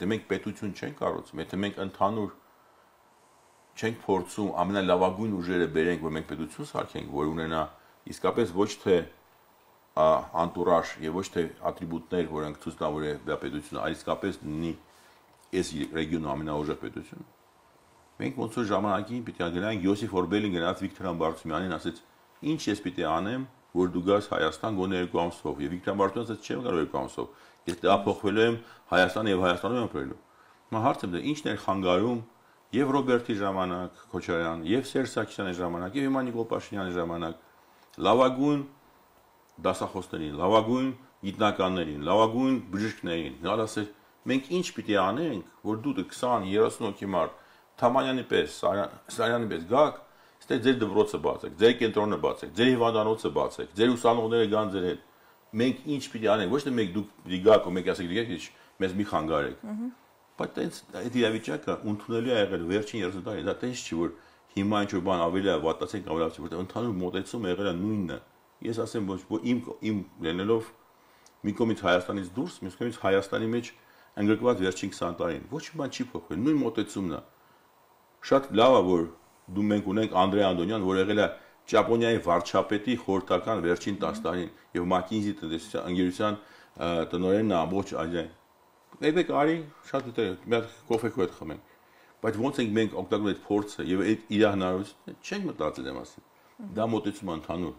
Եթե մենք պետություն չենք կառուցում, եթե մենք ընդհանուր չենք փորձում ամենալավագույն ուժերը բերենք, որ մենք պետություն սարքենք, որ ունենա իսկապես ոչ թե անտուրաժ եւ ոչ թե ատրիբուտներ, որոնք ցույց տան, որ դա պետությունը, այլ իսկապես լինի այս ռեգիոնի ամենաուժեղ պետությունը։ Մենք ոնց որ ժամանակին պիտի գնանք Յոսիֆ Օրբելին գնաց Վիկտոր Համբարձումյանին, ասեց. «Ինչ ես պիտի անեմ, որ դու գաս Հայաստան գոնե 2 ամսով»։ Եվ Վիկտոր Համբարձումյանը ասեց. «Չեմ կարող 2 ամսով։ Ես տեղափոխվելու եմ Հայաստան եւ Հայաստանում եմ ապրելու»։ Հիմա հարցը դա ինչն էր խանգարում եւ Ռոբերտի ժամանակ Քոչարյան, եւ Սերժ Սարգսյանի ժամանակ, եւ հիմա Նիկոլ Փաշինյանի ժամանակ լավագույն դասախոսներին, լավագույն գիտնականներին, լավագույն բժիշկներին, նա ասել. «Մենք ինչ պիտի անենք, որ դու 20-30 հոգի մարդ Թամանյանի պես, Սարյանի պես գաք, ստե ձեր դպրոցը բացեք, ձեր կենտրոնը բացեք, ձեր հիվանդանոցը բացեք, ձեր ուսանողները գան ձեր հետ։ Մենք ինչ պիտի անենք, ոչ թե մենք դուք պիտի գաք ու մենք ասեք դիգեք, մեզ մի խանգարեք»։ Բայց այդ իրավիճակը ընդունելի է եղել վերջին 30 տարի, դա տես չի, որ հիմա ինչ որ բան ավելի է վատացել կամ ավելի, որտեղ ընդհանուր մոտեցումը եղել է նույնը։ Ես ասեմ, ոչ իմ լինելով մի կողմից Հայաստանից դուրս, մյուս կողմից Հայաստանի մեջ ընդգրկված վերջին 20 տարին, ոչ մի բան չի փոխվել, նույն մոտեցումն է։ Շատ լավ է, որ դու մենք ունենք Անդրեյ Անդոնյան, որ եղել է Ճապոնիայի վարչապետի խորհրդական վերջին 10 տարին եւ McKinsey տնտեսության ընկերության տնօրենն է ամբողջ Ազիային։ Եկեք արի, շատ դե մի հատ կոֆե քո հետ խմենք։ Բայց ոնց ենք մենք օգտագործում այդ փորձը եւ այդ իր հնարավորությունը, չենք մտածել եմ ասել։ Դա մոտեցում ընդհանուր